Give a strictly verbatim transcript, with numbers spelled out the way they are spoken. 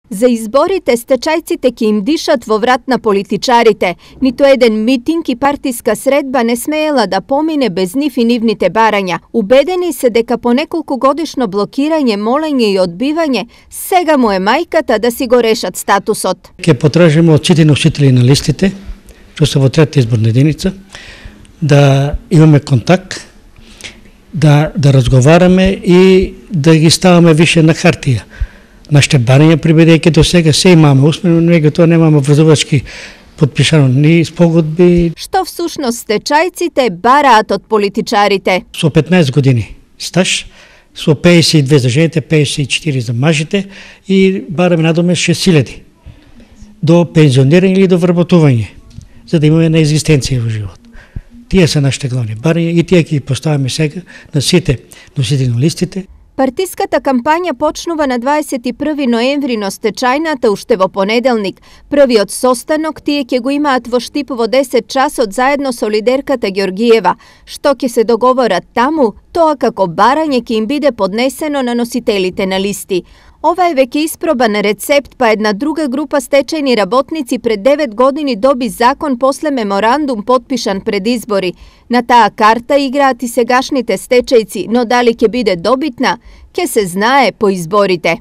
За изборите стечајците ќе им дишат во врат на политичарите. Ниту еден митинг и партиска средба не смеела да помине без нив и нивните барања. Убедени се дека по неколку годишно блокирање, молење и одбивање, сега му е мајката да си го решат статусот. Ќе потражиме од сите носители на листите, што се во трета изборна единица, да имаме контакт, да, да разговараме и да ги ставаме више на хартија. Нашите барања, прибедејќи до сега се имаме усмено, меѓутоа немаме врзувачки подпишано ни спогодби. Што всушност стечајците бараат од политичарите? Со петнаесет години стаж, со пеесет и две за жените, пеесет и четири за мажите и бараме надоме шест илјади до пензионирање или до вработување, за да имаме на екзистенција во живот. Тие се нашите главни барања и тие ќе ги поставиме сега на сите носители на листите. Партиската кампања почнува на дваесет и први ноември, но стечајната уште во понеделник. Првиот состанок тие ќе го имаат во Штип во десет часот заедно со лидерката Ѓоргиева. Што ќе се договорат таму, тоа како барање ќе им биде поднесено на носителите на листи. Ова е веќе испробан рецепт, па една друга група стечајни работници пред девет години доби закон после меморандум потпишан пред избори. На таа карта играат и сегашните стечајци, но дали ќе биде добитна, ќе се знае по изборите.